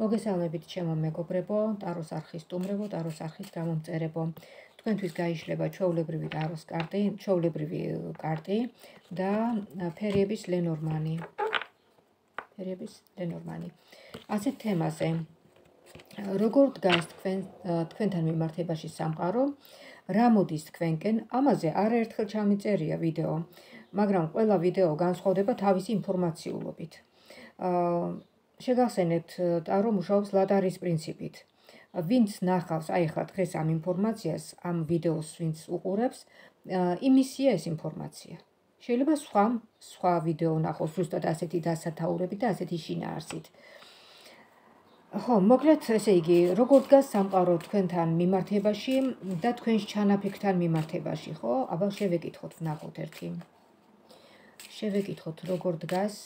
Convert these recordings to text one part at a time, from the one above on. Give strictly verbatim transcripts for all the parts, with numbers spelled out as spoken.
მოგესალმებით ჩემო მეგობრებო, ტაროს არხის სტუმრებო, ტაროს არხის გამომწერებო. თქვენთვის გაიშლება ჩვეულებრივი ტაროს კარტი, ჩვეულებრივი კარტი და ფერიების ლენორმანი. ფერიების ლენორმანი. ასეთ თემაზე. როგორ დგას თქვენ თქვენთან მიმართებაში სამყარო? რა მოდის თქვენკენ? ამაზე არაერთხელ ჩამიწერია ვიდეო, მაგრამ ყველა ვიდეო განსხვავდება თავისი ინფორმაციულობით. აა შეგახსენებთ, ტარო მუშაობს ლატარის პრინციპით. ვინც ნახავს, აი ახლა დღეს ამ ინფორმაციას, ამ ვიდეოს ვინც უყურებს, იმისია ეს ინფორმაცია. შეიძლება სხვა სხვა ვიდეო ნახოს, ზუსტად ასეთი დასათაურებით და ასეთი შინაარსით. ხო, მოკლედ, ესე იგი, როგორ დგას სამყარო თქვენთან მიმართებაში და თქვენს ჩანაფიქრთან მიმართებაში, ხო? აბა შევეკითხოთ, ვნახოთ ერთი. შევეკითხოთ, როგორ დგას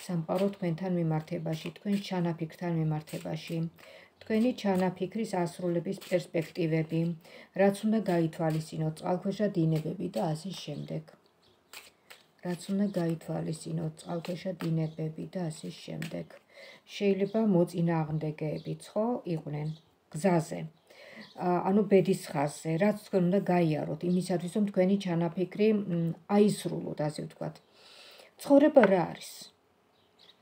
სამყარო თქვენთან მიმართებაში, თქვენს ჩანაფიქრთან მიმართებაში, თქვენი ჩანაფიქრის ასრულების პერსპექტივები, რაც უნდა გაითვალისწინოთ, წყალქვეშა დინებები და ასე შემდეგ. რაც უნდა გაითვალისწინოთ, წყალქვეშა დინებები და ასე შემდეგ. შეიძლება მოწინააღმდეგეებიც, ხო, იყვნენ გზაზე. ანუ ბედის ხაზზე, რაც თქვენ უნდა გაიაროთ იმისათვის, რომ თქვენი ჩანაფიქრი აისრულოთ, ასე ვთქვათ. ცხოვრება რა არის?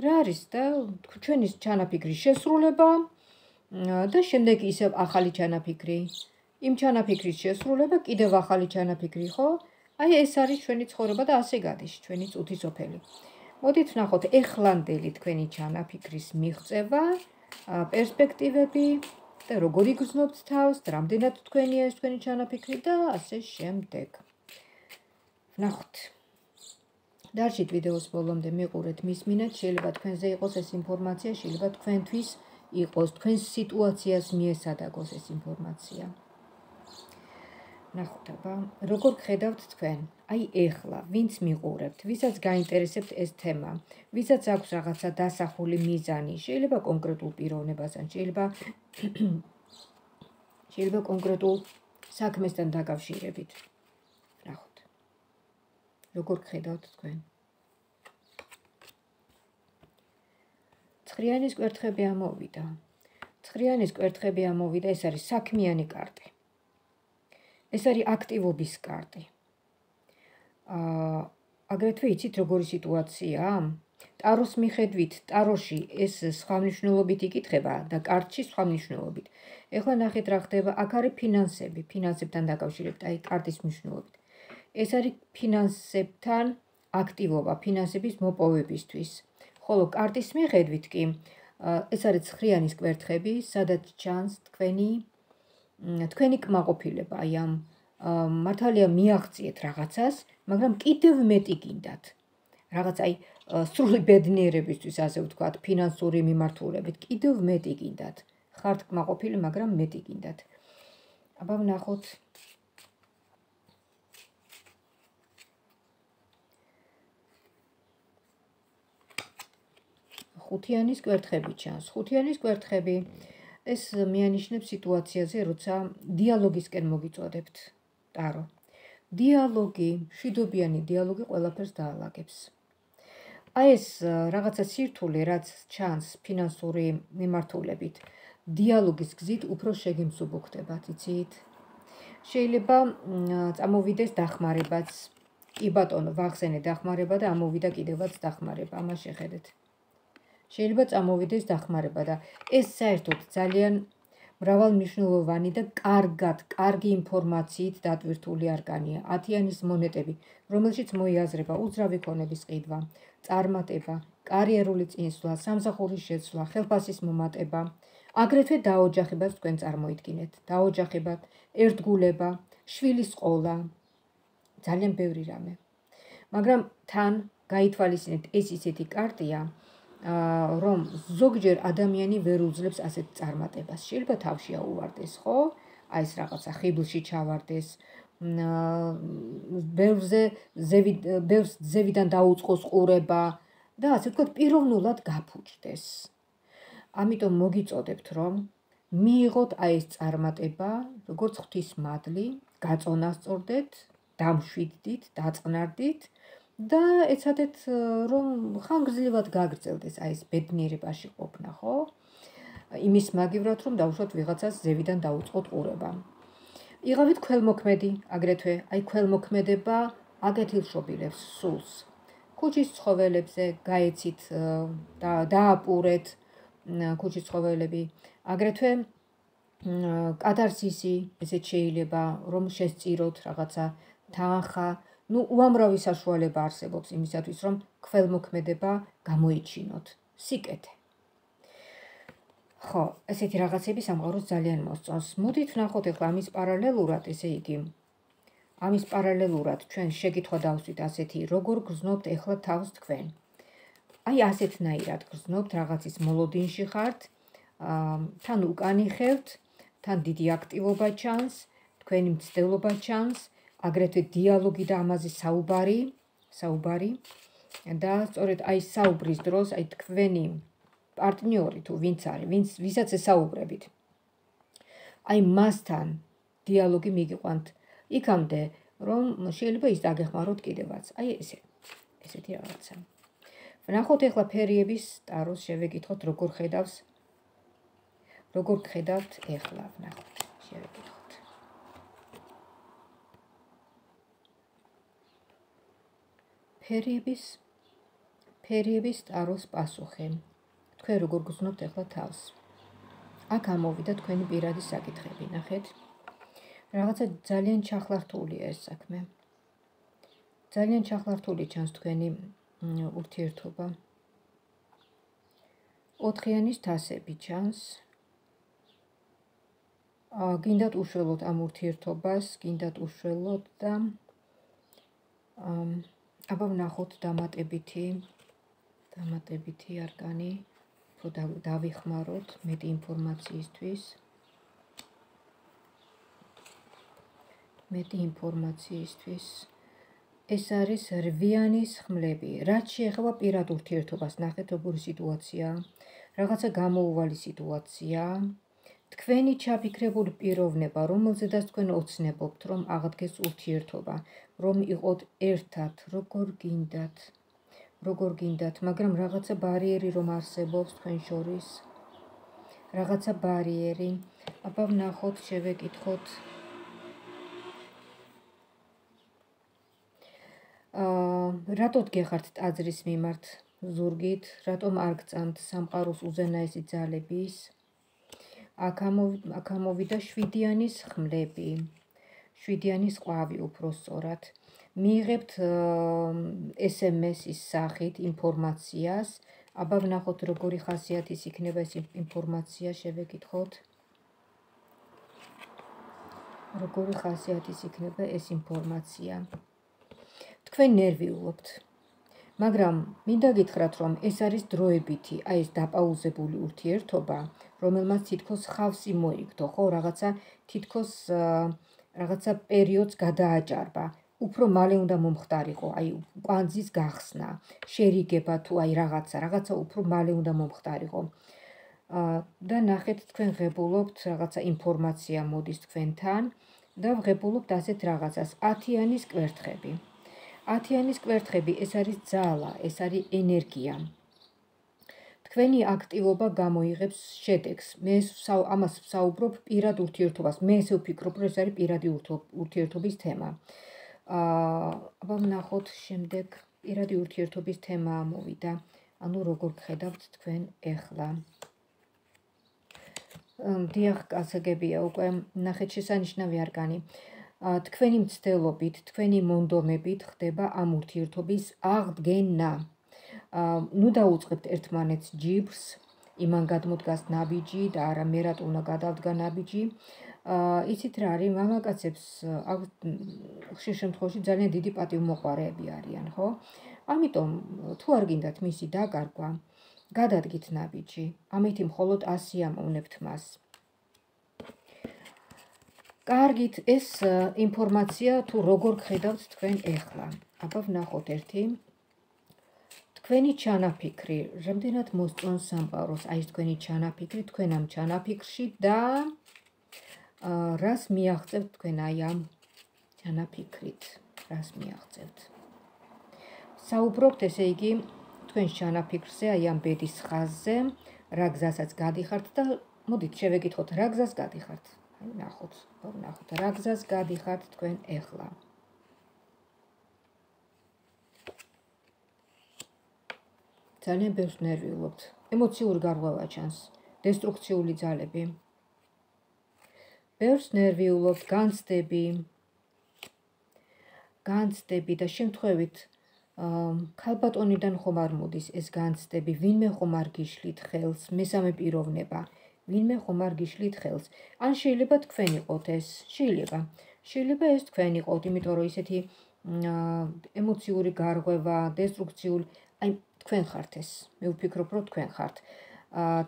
რა არის და ჩვენი ჩანაფიქრის შესრულება და შემდეგ ისევ ახალი ჩანაფიქრი. იმ ჩანაფიქრის შესრულება, კიდევ ახალი ჩანაფიქრი, ხო? აი ეს არის ჩვენი ცხოვრება და ასე გადის ჩვენი წუთი სოფელი. მოდით ვნახოთ ეხლანდელი თქვენი ჩანაფიქრის მიღწევა, პერსპექტივები და როგორ იგრძნობთ თავს, რამდენად თქვენია ეს თქვენი ჩანაფიქრი და ასე შემდეგ. ვნახოთ. დარჩით ვიდეოს ბოლომდე მიყურეთ, მისმინეთ, შეიძლება თქვენზე იყოს ეს ინფორმაცია, შეიძლება თქვენთვის იყოს, თქვენს სიტუაციას მიესადაგოს ეს ინფორმაცია. ვნახოთ, აბა, როგორ გხედავთ თქვენ? აი ეხლა, ვინც მიყურებთ, ვისაც გაინტერესებთ ეს თემა, ვისაც აქვს რაღაცა დასახული მიზანი, შეიძლება კონკრეტულ პიროვნებასთან, შეიძლება შეიძლება კონკრეტულ საქმესთან დაკავშირებით. ვნახოთ. როგორ გხედავთ თქვენ? ცხრიანის კვერთხები ამოვიდა. ცხრიანის კვერთხები ამოვიდა, ეს არის საქმიანი კარტი. ეს არის აქტივობის კარტი. აა აგრეთვე იცით როგორი სიტუაციაა? ტაროს მიხედვით, ტაროში ეს სხვა მნიშვნელობით იკითხება და კარტში სხვა მნიშვნელობით. ეხლა ნახეთ რა ხდება, აქ არის ფინანსები, ფინანსებთან დაკავშირებით, აი კარტის მნიშვნელობით. ეს არის ფინანსებთან აქტივობა, ფინანსების მოპოვებისთვის. ხოლო კარტის მიხედვით კი, ეს არის ცხრიანის კვერთხები, სადაც ჩანს თქვენი თქვენი კმაყოფილება, აი ამ მართალია მიაღწიეთ რაღაცას, მაგრამ კიდევ მეტი გინდათ. რაღაც აი სრული ბედნიერებისთვის, ასე ვთქვათ, ფინანსური მიმართულებით, კიდევ მეტი გინდათ. ხართ კმაყოფილი, მაგრამ მეტი გინდათ. აბა ვნახოთ. ხუთიანის კვერთხები ჩანს. ხუთიანის კვერთხები ეს მიანიშნებს სიტუაციაზე, როცა დიალოგისკენ მოგიწოდებთ, ტარო. დიალოგი, მშვიდობიანი დიალოგი ყველაფერს დაალაგებს. აი ეს რაღაცა სირთულე, რაც ჩანს ფინანსური მიმართულებით, დიალოგის გზით უფრო შეგიმსუბუქდებათ, იცით? შეიძლება წამოვიდეს დახმარებაც. კი ბატონო, ვახსენე დახმარება და ამოვიდა კიდევაც დახმარება, ამას შეხედეთ. შეიძლება წამოვიდეს დახმარება და ეს საერთოდ ძალიან მრავალმნიშვნელოვანი და კარგად, კარგი ინფორმაციით დატვირთული არკანია. ათიანის მონეტები, რომელშიც მოიაზრება უძრავი ქონების ყიდვა, წარმატება, კარიერული წინსვლა, სამსახურის შეცვლა, ხელფასის მომატება, აგრეთვე დაოჯახებას თქვენ წარმოიდგინეთ. დაოჯახება, ერთგულება, შვილის ყოლა, ძალიან ბევრი რამე. მაგრამ თან გაითვალისწინეთ, ეს ისეთი კარტია, რომ ზოგჯერ ადამიანი ვერ უძლებს ასეთ წარმატებას. შეიძლება თავში აუვარდეს, ხო? აი ეს რაღაცა ხიბლში ჩავარდეს, ბევრზე ბევრს ზევიდან დაუწყოს ყურება და ასე ვთქვათ, პიროვნულად გაფუჭდეს. ამიტომ მოგიწოდებთ, რომ მიიღოთ აი ეს წარმატება, როგორც ღვთის მადლი, გაწონასწორდეთ, დამშვიდდით, დაწყნარდით და ეცადეთ რომ ხანგრძლივად გაგრძელდეს აი ეს ბედნიერებაში ყოფნა, ხო? იმის მაგივრად რომ დავუშვათ ვიღაცას ზევიდან დაუწყოთ ყურება. იღავით ქველმოქმედი, აგრეთვე აი ქველმოქმედება აგეთილშობილებს სულს. ქუჩის ცხოველებზე გაეცით და დააპურეთ ქუჩის ცხოველები, აგრეთვე კატარსისი, ესეც შეიძლება რომ შესწიროთ რაღაცა თანხა, ну უამრავი საშუალება არსებობს იმისათვის რომ ქველმოქმედება გამოიჩინოთ, სიკეთე. ხო, ესეთი რაღაცები სამყაროს ძალიან მოსწონს. მოდით ვნახოთ ახლა ამის პარალელურად, ესე იგი, ამის პარალელურად ჩვენ შეკითხვა დავსვით ასეთი, როგორ გრძნობთ ახლა თავს თქვენ? აი ასეთნაირად გრძნობთ, რაღაცის მოლოდინში ხართ, თან უკანი ხევთ, თან დიდი აქტივობა ჩანს, თქვენი მცდელობა ჩანს, აგრეთვე დიალოგი და ამაზე საუბარი, საუბარი და სწორედ აი საუბრის დროს, აი თქვენი პარტნიორი თუ ვინც არის, ვინც ვისაც ესაუბრებით. აი მასთან დიალოგი მიგიყვანთ იქამდე, რომ შეიძლება ის დაგეხმაროთ კიდევაც. აი ესე, ესეთი რაღაცა. ვნახოთ ახლა ფერიების ტაროს შევეკითხოთ, როგორ ხედავს, როგორ ხედავთ ახლა, ვნახოთ, შევეკითხოთ. ფერიების, ფერიების ტაროს პასუხი. თქვენ როგორ გრძნობთ ახლა თავს? აქ ამოვიდა თქვენი პირადი საკითხები, ნახეთ. რაღაცა ძალიან ჩახლართულია ეს საქმე. ძალიან ჩახლართული ჩანს თქვენი ურთიერთობა. ოთხიანის თასები ჩანს. გინდათ უშველოთ ამ ურთიერთობას, გინდათ უშველოთ და აბა ვნახოთ დამატებითი, დამატებითი არკანი, უფრო დავიხმაროთ მეტი ინფორმაციისთვის. მეტი ინფორმაციისთვის. ეს არის რვიანის ხმლები. რაც შეეხება პირად ურთიერთობას, ნახეთ როგორი სიტუაციაა. რაღაცა გამოუვალი სიტუაციაა. თქვენი ჩაფიქრებული პიროვნება, რომელზედაც თქვენ ოცნებობთ, რომ აღდგეს ურთიერთობა, რომ იყოთ ერთად, როგორ გინდათ, როგორ გინდათ, მაგრამ რაღაცა ბარიერი რომ არსებობს თქვენ შორის. რაღაცა ბარიერი. აბა ვნახოთ, შევეკითხოთ. რატოდ გეხართ ტაძრის მიმართ ზურგით, რატომ არ გწამთ სამყაროს უზენაესი ძალების? აქ ამოვიდა შვიდიანის ხმლები, შვიდიანის ყვავი უფრო სწორად. მიიღებთ ეს ემ ეს-ის სახით ინფორმაციას. აბა ვნახოთ როგორი ხასიათის იქნება ეს ინფორმაცია, შევეკითხოთ. როგორი ხასიათის იქნება ეს ინფორმაცია. თქვენ ნერვიულობთ, მაგრამ მინდა გითხრათ, რომ ეს არის დროებითი, აი ეს დაპაუზებული ურთიერთობა, რომელმაც თითქოს ხავსი მოიგდო, ხო, რაღაცა თითქოს რაღაცა პერიოდს გადააჭარბა. უფრო მალე უნდა მომხდარიყო, აი კვანძის გახსნა, შერიგება თუ აი რაღაცა, რაღაცა უფრო მალე უნდა მომხდარიყო. და ნახეთ, თქვენ ღებულობთ რაღაცა ინფორმაცია მოდის თქვენთან და ღებულობთ ასეთ რაღაცას, ათიანის კვერთხები. ათიანის კვერთხები, ეს არის ძალა, ეს არის ენერგია. თქვენი აქტივობა გამოიღებს შედეგს. მე ამას ვსაუბრობ პირად ურთიერთობას. მე ესე ვფიქრობ, რომ ეს არის პირადი ურთიერთობის თემა. აბა ვნახოთ შემდეგ პირადი ურთიერთობის თემა ამოვიდა. ანუ როგორ გხედავთ თქვენ ახლა. დიახ, გასაგებია უკვე, ნახეთ შესანიშნავი არკანი. თქვენი მცდელობით, თქვენი მონდომებით ხდება ამ ურთიერთობის აღდგენა. ნუ დაუწყებთ ერთმანეთს ჯიბრს, იმან გადმოდგას ნაბიჯი და არა მე რატო უნდა გადავდგა ნაბიჯი. იცით რა არის, მამაკაცებს ხშირ შემთხვევაში ძალიან დიდი პატივმოყვარეები არიან, ხო? ამიტომ თუ არ გინდათ მისი დაკარგვა, გადადგით ნაბიჯი. ამით მხოლოდ ასიამოვნებთ მას. კარგით, ეს ინფორმაცია თუ როგორ გხედავთ თქვენ ახლა. აბა ვნახოთ ერთი. თქვენი ჩანაფიქრი, რამდენად მოსწონს სამყაროს, აი ეს თქვენი ჩანაფიქრი, თქვენ ამ ჩანაფიქრში და რას მიაღწევთ თქვენ აი ამ ჩანაფიქრით, რას მიაღწევთ. საუბრობთ, ესე იგი, თქვენ ჩანაფიქრზე, აი ამ ბედის ხაზზე, რა გზასაც გადიხართ და მოდით შევეკითხოთ, რა გზას გადიხართ. აი ნახოთ, ნახოთ, რა გზას გადიხართ თქვენ ეხლა. ძალიან ბევრს ნერვიულობთ. ემოციური გარღვევა ჩანს, დესტრუქციული ძალები. ბევრს ნერვიულობთ, განცდები. განცდები და შემთხვევით ქალბატონიდან ხომ არ მოდის ეს განცდები, ვინმე ხომ არ გიშლით ხელს, მესამე პიროვნება, ვინმე ხომ არ გიშლით ხელს. ან შეიძლება თქვენ იყოთ ეს, შეიძლება. შეიძლება ეს თქვენ იყოთ, იმიტომ რომ ისეთი ემოციური გარღვევა, დესტრუქციული, აი თქვენ ხართ ეს. მე ვფიქრობ, რომ თქვენ ხართ.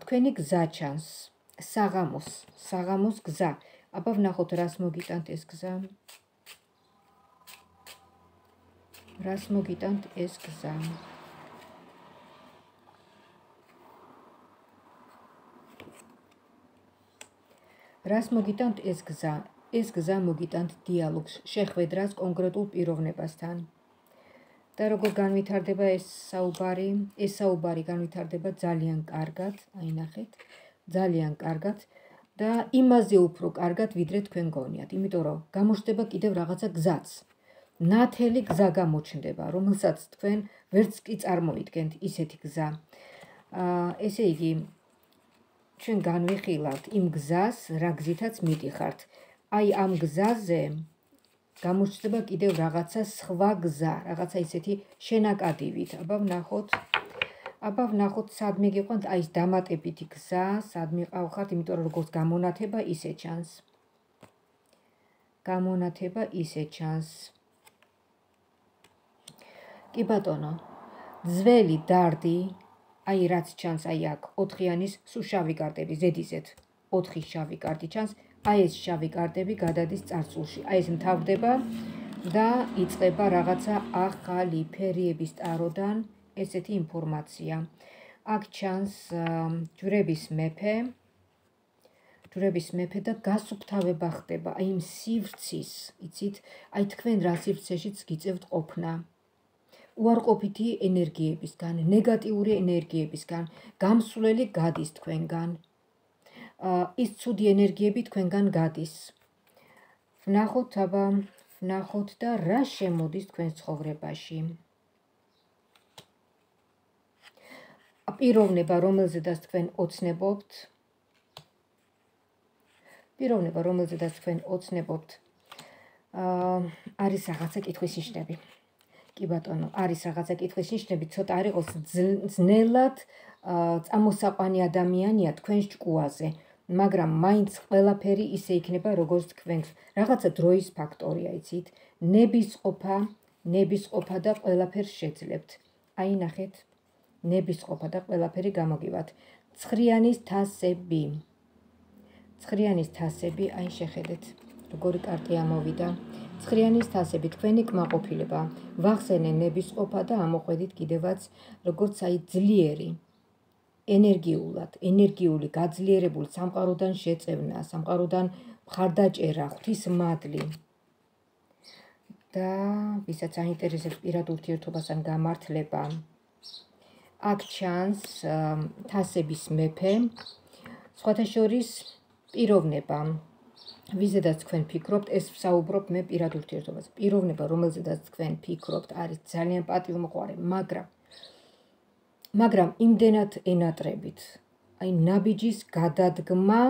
თქვენი გზა ჩანს, საღამოს, საღამოს გზა. აბა ვნახოთ, რას მოგიტანთ ეს გზა. რას მოგიტანთ ეს გზა. რას მოგიტანთ ეს გზა. ეს გზა მოგიტანთ დიალოგს, შეხვედრას კონკრეტულ პიროვნებასთან. და როგორ განვითარდება ეს საუბარი, ეს საუბარი განვითარდება ძალიან კარგად, აი ნახეთ, ძალიან კარგად და იმაზე უფრო კარგად, ვიდრე თქვენ გონიათ, იმიტომ რომ გამოჩნდება კიდევ რაღაცა გზაც. ნათელი გზა გამოჩნდება, რომელსაც თქვენ ვერც კი წარმოიდგენთ ისეთი გზა. ესე იგი, ჩვენ განვიხილავთ იმ გზას, რა გზითაც მიდიხართ. აი ამ გზაზე გამოჩნდება კიდევ რაღაცა სხვა გზა, რაღაცა ისეთი შენაკადილით. აბა ვნახოთ, აბა ვნახოთ, სადმე გიყვანთ, აი ეს დამატებითი გზა, სადმე ყავხართ, იმიტომ რომ როგორც გამონათება ისე ჩანს. გამონათება ისე ჩანს. კი ბატონო, ძველი დარდი, აი რაც ჩანს, აი აქ, ოთხიანის სულ შავი კარტები, ზედიზედ, ოთხი შავი კარტი ჩანს, აი ეს შავი კარტები გადადის წარსულში, აი ეს მთავრდება და იწყება რაღაცა ახალი ფერიების ტაროდან ესეთი ინფორმაცია. აქ ჩანს ჯვრების მეფე, ჯვრების მეფე და გასუფთავება ხდება, აი იმ სივრცის, იცით, აი თქვენ რა სივრცეშიც გიწევთ ყოფნა. უარყოფითი ენერგიებისგან, ნეგატიური ენერგიებისგან, გამსვლელი გადის თქვენგან. ის ცუდი ენერგიები თქვენგან გადის. ვნახოთ, აბა, ვნახოთ და რა შემოდის თქვენ ცხოვრებაში. პიროვნება, რომელზედაც თქვენ ოცნებობთ, პიროვნება, რომელზედაც თქვენ ოცნებობთ, არის რაღაცა კითხვის ნიშნები. კი ბატონო, არის რაღაცა კითხვის ნიშნები, ცოტა არ იყოს ძნელად წამოსაყვანი ადამიანია თქვენს ჭკუაზე, მაგრამ მაინც ყველაფერი ისე იქნება, როგორც თქვენ. რაღაცა დროის ფაქტორია, იცით, ნებისყოფა, ნებისყოფა და ყველაფერს შეძლებთ. აი ნახეთ, ნებისყოფა და ყველაფერი გამოგივათ. ცხრიანის თასები. ცხრიანის თასები, აი შეხედეთ, როგორი კარტი ამოვიდა. ცხრიანის თასები, თქვენი კმაყოფილება, ვახსენე ნებისყოფა და ამოყვედით კიდევაც, როგორც აი ძლიერი, ენერგიულად, ენერგიული, გაძლიერებული, სამყაროდან შეწევნა, სამყაროდან მხარდაჭერა, ღვთისმადლი. და ვისაც აინტერესებს პირად ურთიერთობასთან გამართლება. აქ ჩანს თასების მეფე, სხვათა შორის პიროვნება. ვიზედაც თქვენ ფიქრობთ, ეს ვსაუბრობ მე პირად ურთიერთობაზე. პიროვნება, რომელზედაც თქვენ ფიქრობთ, არის ძალიან პატივმოყვარე, მაგრამ მაგრამ იმდენად ენატრებით, აი ნაბიჯის გადადგმა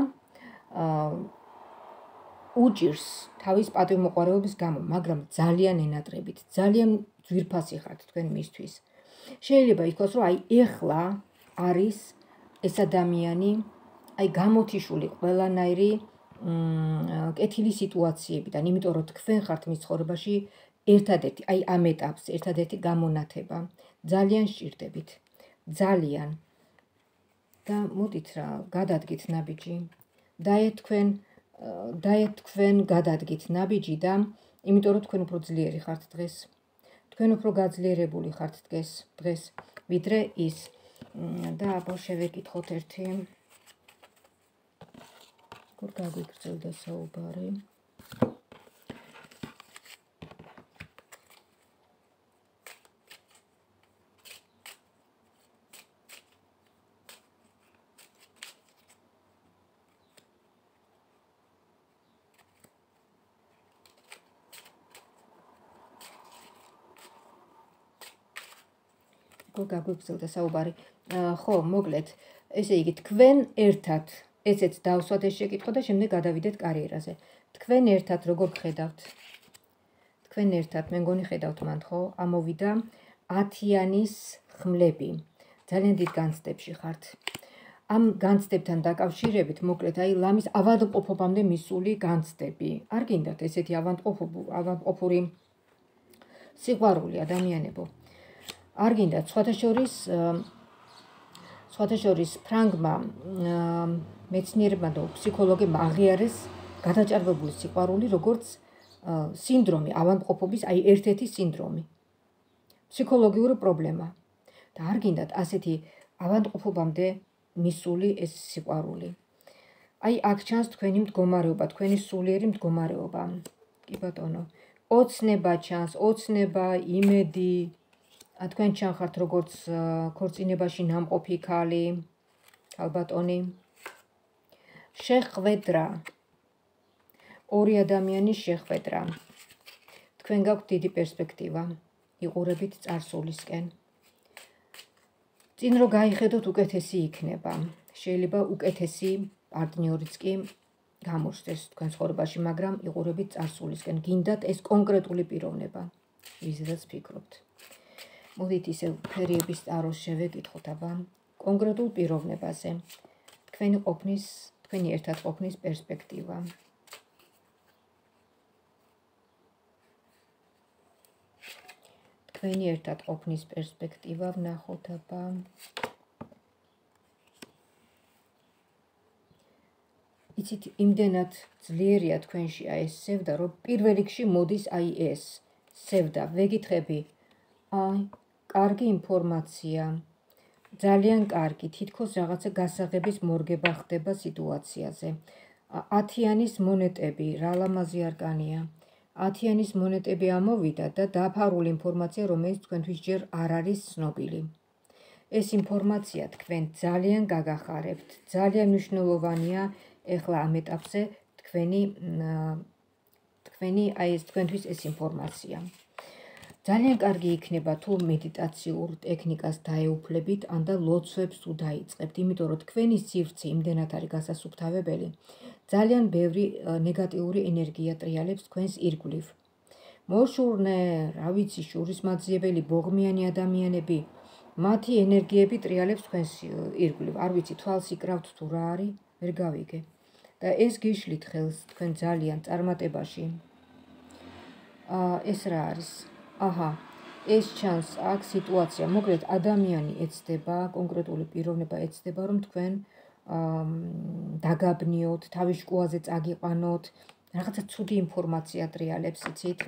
უჭირს თავის პატივმოყვარეობის გამო, მაგრამ ძალიან ენატრებით, ძალიან ძვირფასი ხართ თქვენ მისთვის. შეიძლება ითქვას, რომ აი ეხლა არის ეს ადამიანი, აი გამოთიშული ყველანაირი კეთილი სიტუაციებიდან, იმიტომ რომ თქვენ ხართ მის ცხოვრებაში ერთადერთი, აი ამ ეტაპს, ერთადერთი გამონათება. ძალიან სჭირდებით, ძალიან. და მოდით რა, გადადგით ნაბიჯი. დაეთ თქვენ, დაეთ თქვენ გადადგით ნაბიჯი და იმიტომ რომ თქვენ უფრო ძლიერი ხართ დღეს. თქვენ უფრო გაძლიერებული ხართ დღეს, დღეს, ვიდრე ის. და აბა შევეკითხოთ ერთი. როგორ გაგვიგრძელდა საუბარი? უკვე გაგვიგრძელდა საუბარი. ხო, მოკლედ, ესე იგი, თქვენ ერთად ესეც დავსვათ ეს შეკითხვა და შემდეგ გადავიდეთ კარიერაზე. თქვენ ერთად როგორ გხედავთ? თქვენ ერთად, მე მგონი ხედავთ მანდ, ხო? ამოვიდა ათიანის ხმლები. ძალიან დიდ განცდებში ხართ. ამ განცდებთან დაკავშირებით, მოკლედ, აი ლამის ავადმყოფობამდე მისული განცდები. არ გინდათ ესეთი ავადმყოფური სიყვარული ადამიანებო. არ გინდათ, სხვათა შორის სხვათა შორის ფრანგმა მეცნიერებმა და ფსიქოლოგებმა აღიარეს გადაჭარბებული სიყვარული, როგორც სინდრომი, ავადმყოფობის, აი ერთ-ერთი სინდრომი. ფსიქოლოგიური პრობლემა. და არ გინდათ ასეთი ავადმყოფობამდე მისული ეს სიყვარული. აი აქ ჩანს თქვენი მდგომარეობა, თქვენი სულიერი მდგომარეობა. კი ბატონო, ოცნება ჩანს, ოცნება, იმედი, თქვენ ჩანხართ როგორც ქორწინებაში ნამყოფი ქალი, ქალბატონი. შეხვედრა. ორი ადამიანის შეხვედრა. თქვენ გაქვთ დიდი პერსპექტივა. იყურებით წარსულისკენ. წინ რო გაიხედოთ უკეთესი იქნება. შეიძლება უკეთესი პარტნიორიც კი გამოჩნდეს თქვენ ცხოვრებაში, მაგრამ იყურებით წარსულისკენ. გინდათ ეს კონკრეტული პიროვნება, ვიზედაც ფიქრობთ. მოდით ისევ ფერიების ტაროს შევეკითხოთ აბა კონკრეტულ პიროვნებაზე. თქვენი ყოფნის, თქვენი ერთად ყოფნის პერსპექტივა. თქვენი ერთად ყოფნის პერსპექტივა ვნახოთ აბა. იცით, იმდენად ძლიერია თქვენში აი ეს სევდა, რომ პირველ რიგში მოდის აი ეს სევდა. ვეკითხები, აი, კარგი ინფორმაცია, ძალიან კარგი, თითქოს რაღაცა გასაღების მორგება ხდება სიტუაციაზე. ათიანის მონეტები, რა ლამაზი არკანია. ათიანის მონეტები ამოვიდა და დაფარული ინფორმაცია, რომელიც თქვენთვის ჯერ არ არის ცნობილი. ეს ინფორმაცია თქვენ ძალიან გაგახარებთ, ძალიან მნიშვნელოვანია ეხლა ამ ეტაპზე თქვენი თქვენი აი ეს თქვენთვის ეს ინფორმაცია. ძალიან კარგი იქნება თუ მედიტაციურ ტექნიკას დაეუფლებით ან და ლოცვებს თუ დაიწყებთ, იმიტომ რომ თქვენი სივრცე იმდენად არის გასასუფთავებელი, ძალიან ბევრი ნეგატიური ენერგია ტრიალებს თქვენს ირგვლივ. მოშურნე, რა ვიცი, შურისმაძიებელი, ბოღმიანი ადამიანები, მათი ენერგიები ტრიალებს თქვენს ირგვლივ. არ ვიცი, თვალს იკრავთ თუ რა არის, ვერ გავიგე. და ეს გიშლით ხელს თქვენ ძალიან წარმატებაში. ეს რა არის? აჰა, ეს ჩანს აქ სიტუაცია, მოკლედ ადამიანი ეცდება, კონკრეტული პიროვნება ეცდება, რომ თქვენ დაგაბნიოთ, თავის შკუაზე წაგიყვანოთ, რაღაცა ცუდი ინფორმაცია ტრიალებს, იცით?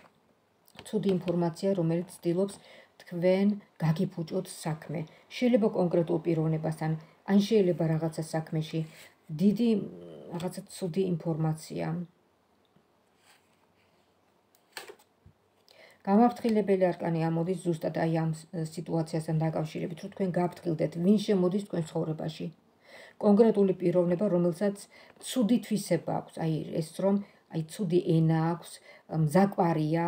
ცუდი ინფორმაცია, რომელიც ცდილობს თქვენ გაგიფუჭოთ საქმე. შეიძლება კონკრეტულ პიროვნებასთან, ან შეიძლება რაღაცა საქმეში დიდი რაღაცა ცუდი ინფორმაცია. გამაფრთხილებელი არკანი ამოდის ზუსტად აი ამ სიტუაციასთან დაკავშირებით, რომ თქვენ გაფრთხილდეთ, ვინ შემოდის თქვენ ცხოვრებაში. კონკრეტული პიროვნება, რომელსაც ცუდი თვისება აქვს, აი ეს რომ აი ცუდი ენა აქვს, მზაკვარია,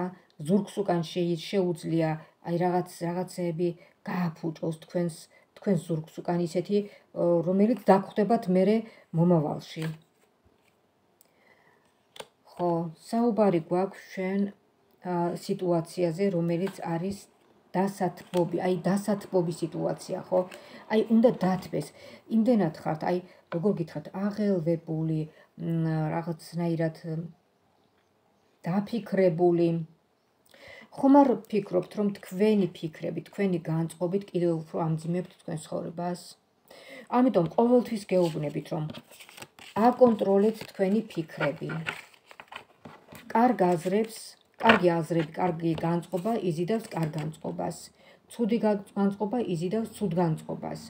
ზურგს უკან შეუძლია, აი რაღაც რაღაცეები გააფუჭოს თქვენს თქვენს ზურგს უკან ისეთი, რომელიც დაგხვდებათ მერე მომავალში. ხო, საუბარი გვაქვს ჩვენ სიტუაციაზე, რომელიც არის დასათბობი, აი დასათბობი სიტუაცია, ხო? აი უნდა დათბეს. იმდენად ხართ, აი როგორ გითხრათ, აღელვებული, რაღაცნაირად დაფიქრებული. ხომ არ ფიქრობთ, რომ თქვენი ფიქრები, თქვენი განწყობით კიდევ უფრო ამძიმებთ თქვენ ცხოვრებას? ამიტომ ყოველთვის გეუბნებით, რომ აკონტროლეთ თქვენი ფიქრები. კარგ აზრებს, კარგი აზრები, კარგი განწყობა იზიდავს კარგ განწყობას. ცუდი განწყობა იზიდავს ცუდ განწყობას.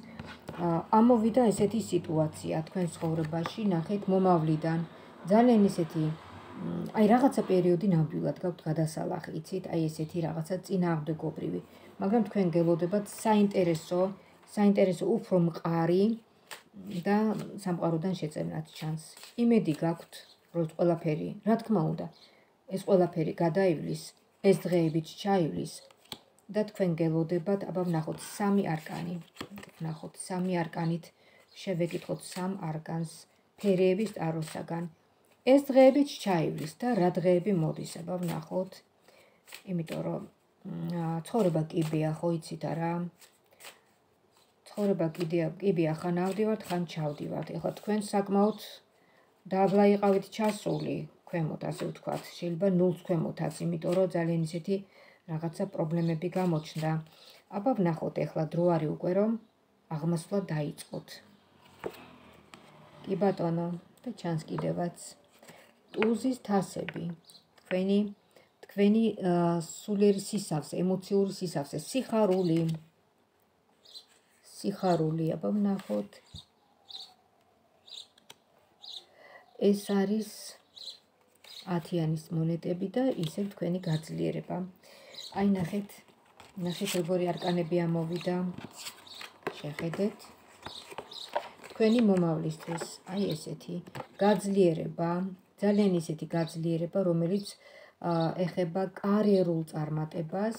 ამოვიდა ესეთი სიტუაცია თქვენ ცხოვრებაში, ნახეთ მომავლიდან. ძალიან ისეთი აი რაღაცა პერიოდი ნამდვილად გაქვთ გადასალახი, იცით? აი ესეთი რაღაცა წინააღმდეგობრივი. მაგრამ თქვენ გელოდებათ საინტერესო, საინტერესო უფრო მყარი და სამყაროდან შეწევნათ ჩანს. იმედი გაქვთ, რომ ყველაფერი, რა თქმა უნდა, ეს ყველაფერი გადაივლის, ეს დღეებიც ჩაივლის და თქვენ გელოდებათ, აბა ვნახოთ სამი არკანი. ვნახოთ სამი არკანით შევეკითხოთ სამ არკანს ფერეების ტაროსაგან. ეს დღეებიც ჩაივლის და რა დღეები მოდის, აბა ვნახოთ. იმიტომ რომ ცხოვრება კიბეა, ხო იცით არა? ცხოვრება კიბეა, ხან ავდივართ, ხან ჩავდივართ. ეხლა თქვენ საკმაოდ დაბლა იყავით ჩასული, ქვემოთ, ასე ვთქვათ. შეიძლება ნულს ქვემოთაც, იმიტომ რომ ძალიან ისეთი რაღაცა პრობლემები გამოჩნდა. აბა ვნახოთ, ეხლა დრო არის უკვე რომ აღმასვლა დაიწყოთ. კი ბატონო, და ჩანს კიდევაც. ტუზის თასები, თქვენი თქვენი სულიერი სისავსე, ემოციური სისავსე, სიხარული. სიხარული, აბა ვნახოთ. ეს არის ათიანის მონეტები და ისევ თქვენი გაძლიერება. აი ნახეთ, ნახეთ როგორი არკანები ამოვიდა. შეხედეთ. თქვენი მომავლისთვის, აი ესეთი გაძლიერება, ძალიან ისეთი გაძლიერება, რომელიც ეხება კარიერულ წარმატებას,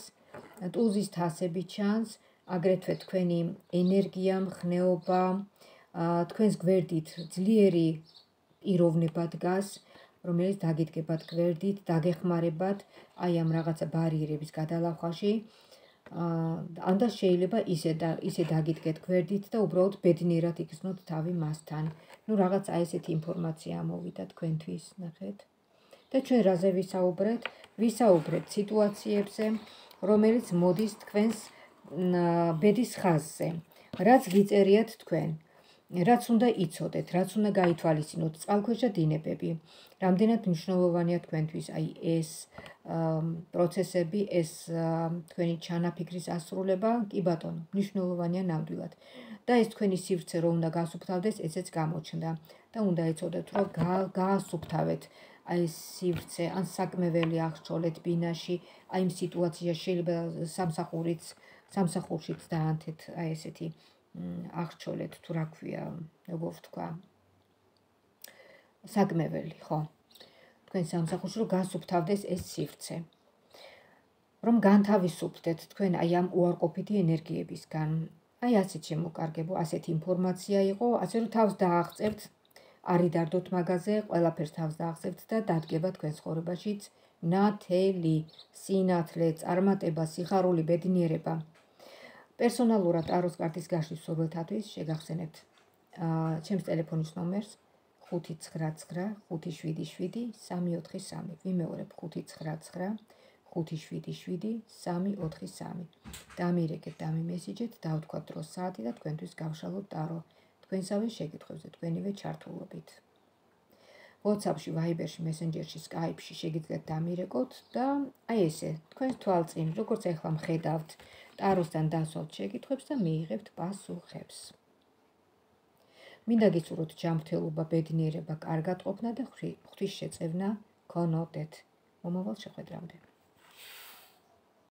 ტუზის თასები ჩანს, აგრეთვე თქვენი ენერგია, მხნეობა, თქვენს გვერდით ძლიერი პიროვნება დგას, რომელიც დაგიდგებათ გვერდით, დაგეხმარებათ აი ამ რაღაცა ბარიერების გადალახვაში. ანდა შეიძლება ისე და ისე დაგიდგეთ გვერდით და უბრალოდ ბედნიერად იგრძნოთ თავი მასთან. ნუ რაღაც აი ესეთი ინფორმაცია ამოვიდა თქვენთვის, ნახეთ. და ჩვენ რაზე ვისაუბრეთ? ვისაუბრეთ სიტუაციებზე, რომელიც მოდის თქვენს ბედის ხაზზე. რაც გიწერიათ თქვენ, რაც უნდა იცოდეთ, რაც უნდა გაითვალისწინოთ, წყალქვეშა დინებები. რამდენად მნიშვნელოვანია თქვენთვის აი ეს პროცესები, ეს თქვენი ჩანაფიქრის ასრულება, კი ბატონო, მნიშვნელოვანია ნამდვილად. და ეს თქვენი სივრცე რომ უნდა გასუფთავდეს, ესეც გამოჩნდა. და უნდა იცოდეთ, რომ გაასუფთავეთ აი ეს სივრცე, ან საკმეველი აღშოლეთ ბინაში, აი იმ სიტუაციაში შეიძლება სამსახურიც, სამსახურშიც დაანთეთ აი ესეთი აღჩოლეთ, თუ რა ქვია, როგორ ვთქვა. საკმეველი, ხო. თქვენ სამსახურში რომ გასუფთავდეს ეს სივრცე. რომ განთავისუფლდეთ თქვენ აი ამ უარყოფითი ენერგიებისგან. აი ასეთ შემოკარგებო, ასეთი ინფორმაცია იყო, ასე რომ თავს დააღწევთ, არ იდარდოთ მაგაზე, ყველაფერს თავს დააღწევთ და დადგება თქვენ ცხოვრებაშიც ნათელი, სინათლე, წარმატება, სიხარული, ბედნიერება. პერსონალურად ტაროს კარტის გაშლის მსურველთათვის შეგახსენებთ ჩემს ტელეფონის ნომერს ხუთი ცხრა ცხრა ხუთი შვიდი შვიდი სამი ოთხი სამი. ვიმეორებ ხუთი ცხრა ცხრა ხუთი შვიდი შვიდი სამი ოთხი სამი. დამირეკეთ, დამიმესიჯეთ, დავთქვათ დრო საათი და თქვენთვის გავშალოთ ტარო. თქვენსავე შეკითხვებზე თქვენივე ჩართულობით. WhatsApp-ში, Viber-ში, Messenger-ში, Skype-ში შეგიძლიათ დამირეკოთ და აი ესე, თქვენს თვალწინ, როგორც ახლა მხედავთ, ტაროსთან დასვათ შეკითხვებს და მიიღებთ პასუხებს. მინდა გისურვოთ ჯანმრთელობა, ბედნიერება, კარგად ყოფნა და ღვთის შეწევნა გქონოდეთ. მომავალ შეხვედრამდე.